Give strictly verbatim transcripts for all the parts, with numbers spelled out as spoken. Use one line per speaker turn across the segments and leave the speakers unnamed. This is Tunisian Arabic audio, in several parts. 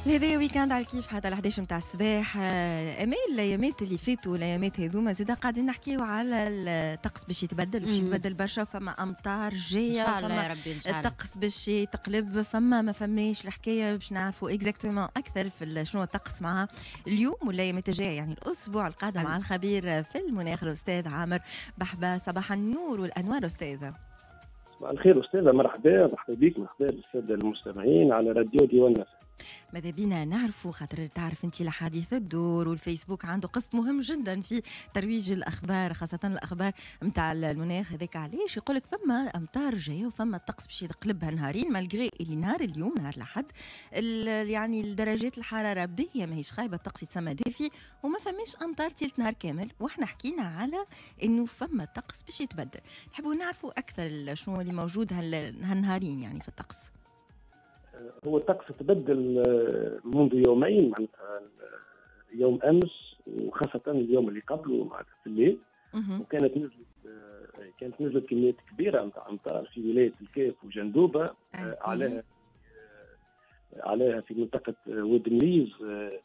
هذا week-end على الكيف حتى ل إحداش متاع الصباح. امال الايامات اللي فاتوا الايامات هذوما زاده قاعدين نحكيو على الطقس باش يتبدل، باش يتبدل برشا، فما امطار جاية،
ان شاء الله يا ربي ان شاء الله
الطقس باش يتقلب، فما ما فماش الحكاية باش نعرفوا exactement اكثر في شنو الطقس مع اليوم والايامات الجاية، يعني الاسبوع القادم، مع الخبير في المناخ الاستاذ عامر بحبه. صباح النور والانوار استاذه.
صباح الخير استاذه، مرحبا مرحبا بك، مرحبا بالساده المستمعين على راديو ديوان.
ماذا بينا نعرفوا، خاطر تعرف انت الحديث الدور والفيسبوك عنده قسط مهم جدا في ترويج الاخبار، خاصة الاخبار نتاع المناخ. هذاك علاش يقول لك فما امطار جاية وفما الطقس باش يتقلبها نهارين، malgré اللي نهار اليوم نهار الاحد يعني درجات الحرارة باهيه ماهيش خايبة، الطقس يتسمى دافي وما فماش امطار تيلت نهار كامل، واحنا حكينا على انه فما الطقس باش يتبدل. نحبوا نعرفوا اكثر شنو اللي موجود هالنهارين يعني في الطقس.
هو الطقس تبدل منذ يومين، معناتها يوم امس وخاصة اليوم اللي قبله معناتها في الليل، وكانت نزلت كانت نزلت كميات كبيرة نتاع امطار في ولاية الكاف وجندوبه، عليها عليها في منطقة واد مليز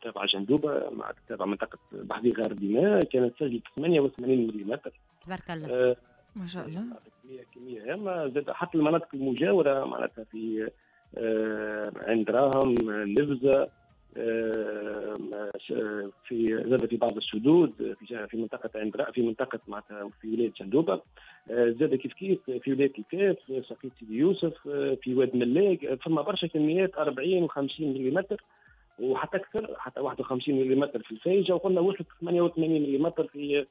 تابعه جندوبه مع تابعه منطقة بحذي غار دماء، كانت سجلت ثمانية وثمانين ملم.
تبارك الله
ما شاء الله،
كمية كمية هامة. زاد حتى المناطق المجاورة معناتها في عند راهم نفزة، في زاد في بعض السدود في في منطقة عند في منطقة معناتها في ولاية جندوبه، زاد كيف كيف في ولاية الكاف، سقيط سيدي يوسف، في واد ملاك، فما برشا كميات أربعين وخمسين ملم وحتى اكثر، حتى واحد وخمسين ملم في الفايجه، وقلنا وصلت ثمانية وثمانين ملم في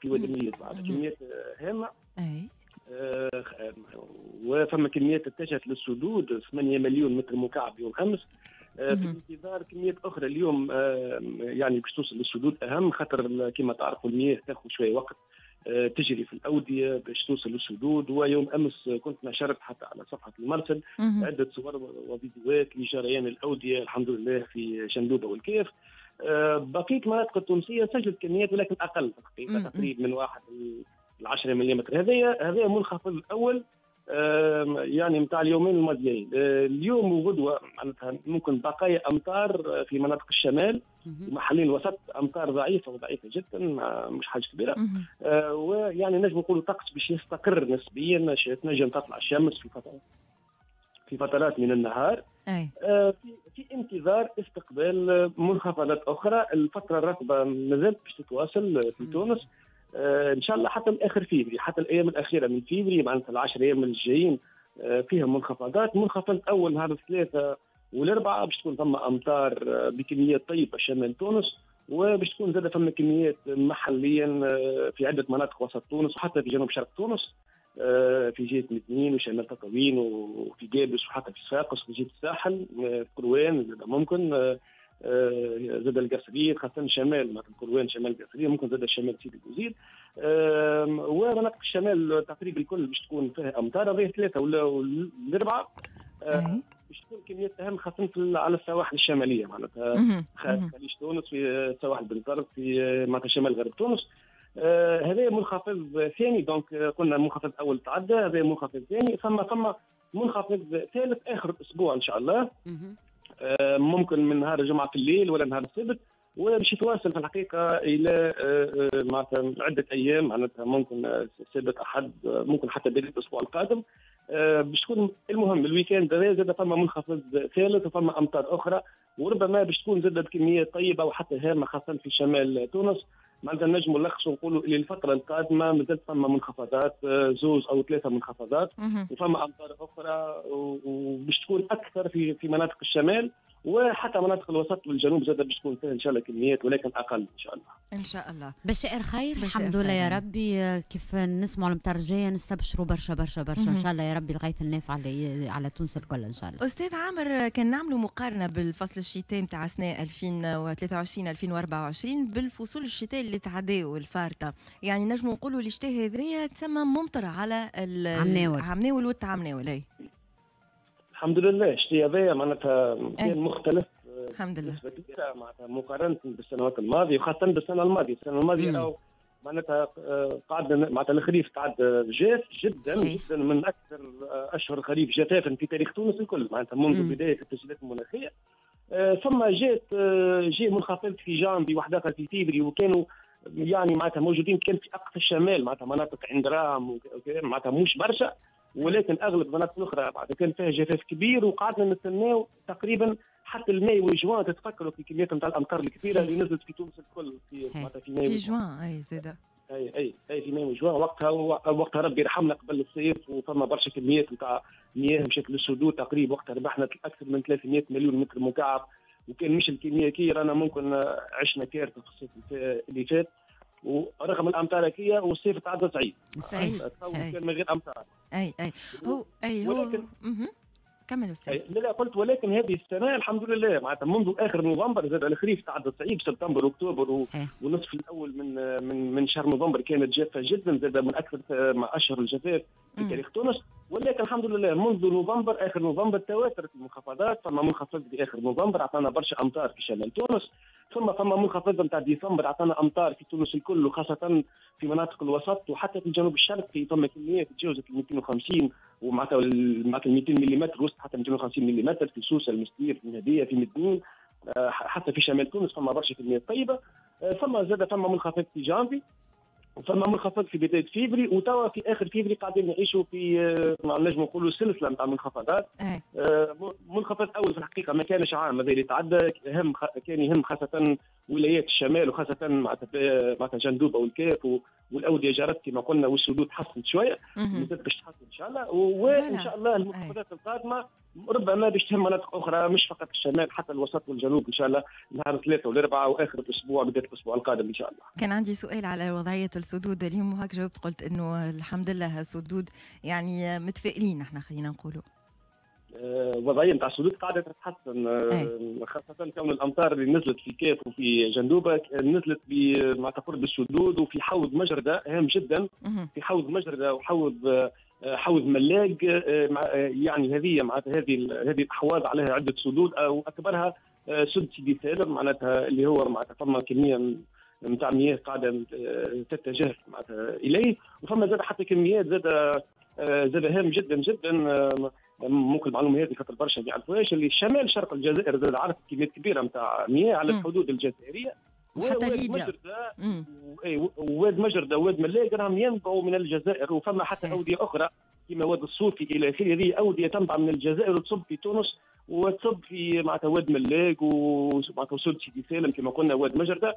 في واد مليز، معناتها كميات هامة. آه وفما كميات اتجهت للسدود ثمانية مليون متر مكعب يوم امس، آه في انتظار كميات اخرى اليوم، آه يعني باش توصل للسدود اهم، خاطر كما تعرفوا المياه تاخذ شوية وقت آه تجري في الاودية باش توصل للسدود. ويوم امس كنت نشرت حتى على صفحة المرسل عده صور وفيديوهات لجريان الاودية الحمد لله في جندوبه والكاف. آه بقية المناطق التونسية سجلت كميات ولكن اقل تقريبا تقريبا من واحد العشرة ملم. هذايا هذايا منخفض الاول يعني نتاع اليومين الماضيين. اليوم وغدوه معناتها ممكن بقايا امطار في مناطق الشمال ومحلين الوسط، امطار ضعيفة وضعيفه جدا مش حاجة كبيرة، ويعني نجم نقولوا الطقس باش يستقر نسبيا، تنجم تطلع الشمس في فترات في فترات من النهار.
أي.
في في انتظار استقبال منخفضات اخرى. الفترة الرطبة مازالت باش تتواصل في تونس آه ان شاء الله حتى الاخر فيفري، حتى الايام الاخيرة من فيفري معناتها العشر ايام الجايين آه فيها منخفضات. منخفض اول نهار الثلاثاء والاربعاء باش تكون ثم امطار آه بكميات طيبة شمال تونس، وباش تكون زاد ثم كميات محليا آه في عده مناطق وسط تونس وحتى في جنوب شرق تونس، آه في جهة مدنين وشمال تطاوين وفي قابس وحتى في صفاقس وفي جهة الساحل، آه في قروان زاد ممكن، آه زاد القصرية خاصة شمال مثلا قروان شمال القصرية، ممكن زاد شمال سيدي بوزيد، ومناطق الشمال تقريبا الكل باش تكون فيها امطار. هذه ثلاثة ولا الاربعة باش تكون كميات اهم خاصة على السواحل الشمالية معناتها خليج تونس، في سواحل بنزرت، في معناتها شمال غرب تونس. هذا منخفض ثاني، donc قلنا منخفض اول تعدى، هذا منخفض ثاني، ثم ثم منخفض ثالث اخر الاسبوع ان شاء الله، ممكن من نهار الجمعة في الليل ولا نهار السبت، وباش يتواصل في الحقيقة الى معناتها عده ايام، معناتها ممكن السبت احد، ممكن حتى بداية الاسبوع القادم باش تكون. المهم ال week-end هذا زاد فما منخفض ثالث وفما امطار اخرى، وربما باش تكون زاد بكميات طيبة وحتى هامة خاصة في شمال تونس. معناتها نجموا نلخصوا نقولوا اللي الفترة القادمة مازالت فما منخفضات، زوز او ثلاثة منخفضات، وفما امطار اخرى، وباش تكون اكثر في في مناطق الشمال وحتى مناطق الوسط والجنوب زاد باش تكون فيها ان شاء الله كميات ولكن اقل ان شاء الله.
ان شاء الله.
بشائر خير الحمد لله يا ربي. كيف نسمعوا المطر الجاية نستبشروا برشا برشا برشا ان شاء الله يا ربي، الغيث النافع على على تونس الكل ان شاء الله.
استاذ عامر، كان نعملوا مقارنة بالفصل الشتاء نتاع سنة ألفين وثلاثة وعشرين ألفين وأربعة وعشرين بالفصول الشتاء اللي تعداو الفارطه، يعني نجموا نقولوا الشتاء هذايا تسمى ممطر على
عمناول
عمناول والتعمناول.
الحمد لله الشتاء هذايا معناتها كان مختلف
الحمد لله
بنسبة كبيرة معناتها مقارنة بالسنوات الماضية، وخاصة بالسنة الماضية. السنة الماضية معناتها قعدنا معناتها الخريف قعد جاف جدا
صحيح.
جدا من اكثر اشهر الخريف جفافا في تاريخ تونس الكل، معناتها منذ مم. بداية التسجيلات المناخية. ثم جات جاء منخفض في جانفي واحد آخر في فيفري، وكانوا يعني معناتها موجودين كان في اقصى الشمال، معناتها مناطق عند رام معناتها مش برشا، ولكن اغلب المناطق الاخرى معناتها كان فيها جفاف كبير، وقعدنا نستناو تقريبا حتى الماي وجوان. تتفكروا في كميات نتاع الامطار الكبيرة اللي نزلت في تونس الكل في معناتها في ماي
في جوان. اي زاده
اي اي اي في ماي وجوان وقتها وقتها ربي يرحمنا قبل الصيف، وفما برشا كميات نتاع مياه مشات للسدود تقريبا، وقتها ربحنا اكثر من ثلاثمئة مليون متر مكعب، وكان مش الكمية كي رانا ممكن عشنا كارثة في الصيف اللي فات، ورغم الامطار هكيه والصيف تعدى صعيب.
صحيح
كان من غير امطار.
اي اي هو اي هو
ولكن
كمل استاذ.
لا لا قلت ولكن هذه السنة الحمد لله معناتها منذ اخر نوفمبر زاد الخريف تعدى صعيب، سبتمبر واكتوبر و... ونصف الاول من من من شهر نوفمبر كانت جافة جدا، زاد من اكثر مع اشهر الجفاف في تاريخ تونس، ولكن الحمد لله منذ نوفمبر اخر نوفمبر تواترت المنخفضات. فما منخفض في اخر نوفمبر اعطانا برشا امطار في شمال تونس، ثم فما منخفض نتاع ديسمبر اعطانا امطار في تونس الكل، وخاصة في مناطق الوسط وحتى في الجنوب الشرقي فما كميات تجاوزت ال مئتين وخمسين ومعناتها معناتها مئتين ملم، وصلت حتى مئتين وخمسين ملم في سوسة، المستير، في النهديه، في مدنين، حتى في شمال تونس فما برشا كميات طيبة. ثم زاد فما منخفض في جانفي، وفما منخفض في بداية فيفري، وتوا في اخر فيفري قاعدين نعيشوا في نجم نقولوا سلسلة نتاع منخفضات. منخفض اول في الحقيقة ما كانش عام هذا اللي تعدى، هم كان يهم خاصة ولايات الشمال وخاصة معناتها جندوبه والكاف والاوديه جرت كما قلنا، والسدود تحسنت شوية، مازالت باش تحسن ان شاء الله، وان شاء الله المنخفضات القادمة ربما باش تهم مناطق اخرى مش فقط الشمال، حتى الوسط والجنوب ان شاء الله نهار الثلاثاء والاربعاء واخر الاسبوع بداية الاسبوع القادم ان شاء الله.
كان عندي سؤال على وضعية السدود اليوم، وهاك جاوبت قلت انه الحمد لله السدود يعني متفائلين احنا خلينا نقولوا.
وضعية نتاع السدود قاعدة تتحسن، خاصة كون الامطار اللي نزلت في كاف وفي جندوبه نزلت مع قرب السدود وفي حوض مجرده، هام جدا في حوض مجرده وحوض حوض ملاق، يعني هذه معناتها هذه هذه الاحواض عليها عده سدود، او اكبرها سد سيدي سالم معناتها اللي هو معناتها فما كمية نتاع مياه قاعدة تتجه معناتها اليه، وفما زاد حتى كميات زاد زاد هام جدا جدا، ممكن المعلومة هذه خاطر برشا ما يعرفوهاش، اللي شمال شرق الجزائر زاد عرف كميات كبيرة نتاع مياه على الحدود الجزائرية،
وحتى ليبيا،
وواد مجرده وواد ملاق راهم ينبعوا من الجزائر، وفما حتى اوديه اخرى كما واد الصوفي الى اخره، هذه اوديه تنبع من الجزائر وتصب في تونس وتصب في معناتها واد ملاق ومعناتها سد سيدي سالم كما قلنا واد مجرده،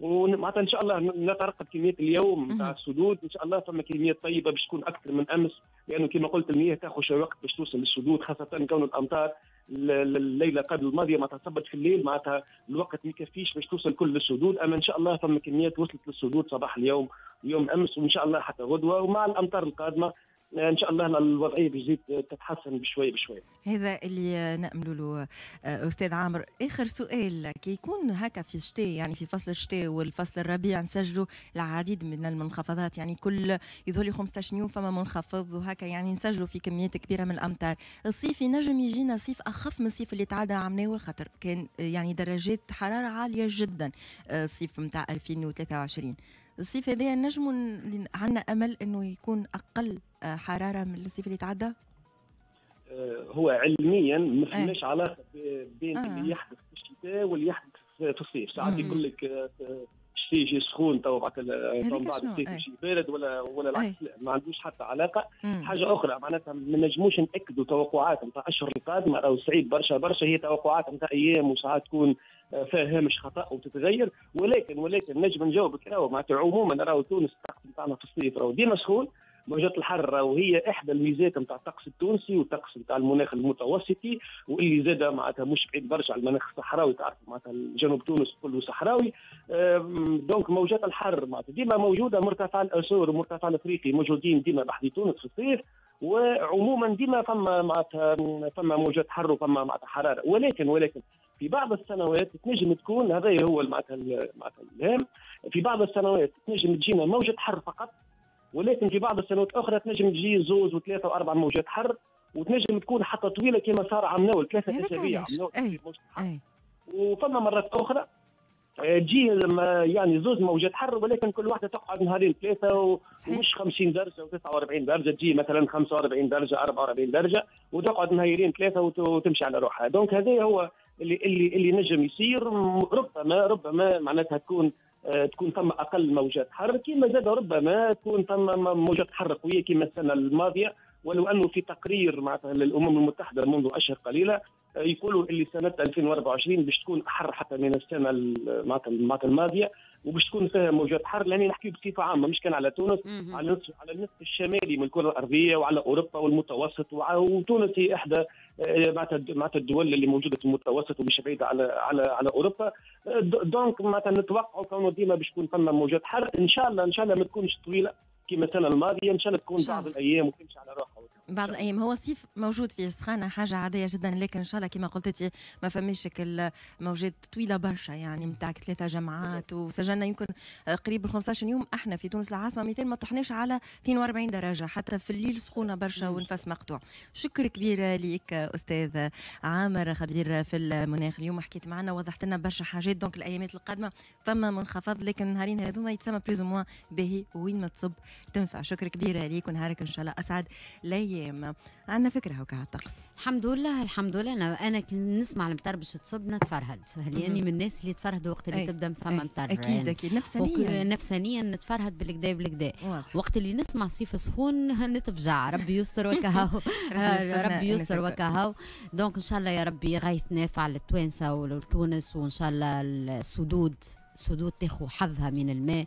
ومعناتها ان شاء الله نترقب كميات اليوم نتاع السدود، ان شاء الله فما كميات طيبة باش تكون اكثر من امس، لانه كما قلت المياه تاخذ شوية وقت باش توصل للسدود، خاصة كون الامطار الليلة قبل الماضية معناتها صبت في الليل، معناتها الوقت ما يكفيش باش توصل كل للسدود، اما ان شاء الله فما كميات وصلت للسدود صباح اليوم ويوم امس، وان شاء الله حتى غدوه، ومع الامطار القادمة ان شاء الله الوضعية بتزيد تتحسن بشوي بشوي.
هذا اللي نامل له استاذ عامر. اخر سؤال، كي يكون هكا في الشتاء يعني في فصل الشتاء والفصل الربيع نسجلوا العديد من المنخفضات، يعني كل يظهر لي خمسطاش يوم فما منخفض وهكا، يعني نسجلوا في كميات كبيرة من الامطار. الصيف ينجم يجينا صيف اخف من الصيف اللي تعدى عمناه، خاطر كان يعني درجات حرارة عالية جدا الصيف نتاع ألفين وثلاثة وعشرين. الصيف هذا نجموا عندنا امل انه يكون اقل حرارة من الصيف اللي تعدى؟
هو علميا ما فماش علاقة بين آه. اللي يحدث في الشتاء واللي يحدث في الصيف. ساعات يقول لك الشتاء يجي سخون تو بعد بعد الصيف يجي بارد ولا ولا العكس، ما عندوش حتى علاقة. مم. حاجة اخرى معناتها ما نجموش ناكدوا توقعات نتاع الاشهر القادمة، راهو صعيب برشا برشا، هي توقعات نتاع ايام وساعات تكون فيها هامش خطا وتتغير، ولكن ولكن نجم نجاوبك راهو معناتها عموما راهو تونس الطقس نتاعنا في الصيف راهو ديما سخون، موجات الحر وهي احدى الميزات نتاع الطقس التونسي والطقس نتاع المناخ المتوسطي، واللي زاد معناتها مش بعيد برشا على المناخ الصحراوي، تعرف معناتها جنوب تونس كله صحراوي. donc موجات الحر معناتها ديما موجودة، مرتفع الاسور ومرتفع الافريقي موجودين ديما بحذي تونس في الصيف، وعموما ديما فما معناتها فما موجات حر وفما معناتها حرارة، ولكن ولكن في بعض السنوات تنجم تكون، هذا هو معناتها معناتها الهام، في بعض السنوات تنجم تجينا موجة حر فقط، ولكن في بعض السنوات الاخرى تنجم تجي زوز وثلاثة واربع موجات حر، وتنجم تكون حتى طويلة كما صار عمناول ثلاثة اسابيع عمناول. وفما مرات اخرى تجي يعني زوز موجات حر، ولكن كل واحدة تقعد نهارين ثلاثة، ومش خمسين درجه وتسعة وأربعين درجه، تجي مثلا خمسة وأربعين درجه أربعة وأربعين درجه وتقعد نهارين ثلاثة وتمشي على روحها. donc هذا هو اللي اللي اللي نجم يصير. ربما ربما معناتها تكون تكون ثم اقل موجات حر، كما زاد ربما تكون ثم موجات حر قوية كما السنة الماضية، ولو انه في تقرير معناتها للامم المتحدة منذ اشهر قليله يقولوا اللي سنة ألفين وأربعة وعشرين باش تكون احر حتى من السنة معناتها الماضية، وباش تكون فيها موجات حر، لان نحكي بصفة عامة مش كان على تونس، على النصف على النصف الشمالي من الكره الارضية وعلى اوروبا والمتوسط، وتونس هي احدى معناتها معناتها الدول اللي موجودة في المتوسط ومش بعيدة على على على اوروبا. donc معناتها نتوقعوا كونه ديما باش تكون فما موجات حر، ان شاء الله ان شاء الله ما تكونش طويلة كما السنة الماضية، ان شاء الله تكون بعض الايام وتمشي على روحها
بعض الايام. هو الصيف موجود فيه السخانه حاجة عادية جدا، لكن ان شاء الله كما قلت ما فماش الموجات طويلة برشا، يعني نتاع ثلاثة جمعات، وسجلنا يمكن قريب خمسة عشر يوم احنا في تونس العاصمة مئتين ما طحناش على اثنين وأربعين درجه، حتى في الليل سخونة برشا ونفس مقطوع. شكر كبير ليك استاذ عامر، خبير في المناخ، اليوم حكيت معنا وضحت لنا برشا حاجات. donc الايامات القادمة فما منخفض، لكن النهارين هذوما يتسمى plus ou moins باهي وين ما تصب تنفع. شكر كبير ليك ونهارك ان شاء الله اسعد الايام. عندنا فكرة هكا على الطقس.
الحمد لله الحمد لله. انا انا كي نسمع المطر باش تصب نتفرهد، لاني من الناس اللي تفرهدوا وقت اللي تبدا فما مطر.
اكيد يعني. اكيد نفسانيا
نفسانيا نتفرهد بالكدا بالكدا. وقت اللي نسمع صيف سخون نتفجع، ربي يستر وكهو ربي يستر وكهو. donc ان شاء الله يا ربي غيث نافع للتوانسه ولتونس، وان شاء الله السدود سدود تاخو حظها من الماء،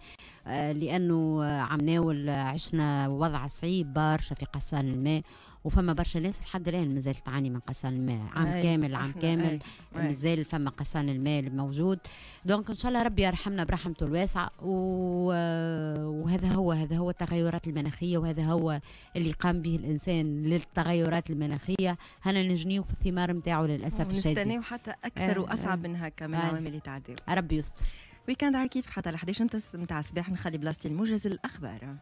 لانه عمناول عشنا وضع صعيب برشا في قصان الماء، وفما برشا ناس لحد الان مازالت تعاني من قصان الماء عام أي. كامل عام كامل مازال فما قصان الماء الموجود. donc ان شاء الله ربي يرحمنا برحمته الواسعة، وهذا هو هذا هو التغيرات المناخية، وهذا هو اللي قام به الانسان للتغيرات المناخية. هنا نجنيو في الثمار نتاعو للاسف الشديد،
نستناو حتى اكثر واصعب من هكا من العوامل اللي تعديو.
ربي يستر.
week-end على كيف حتى ل أحد عشر نتاع الصباح، نخلي بلاصتي الموجز الاخبار.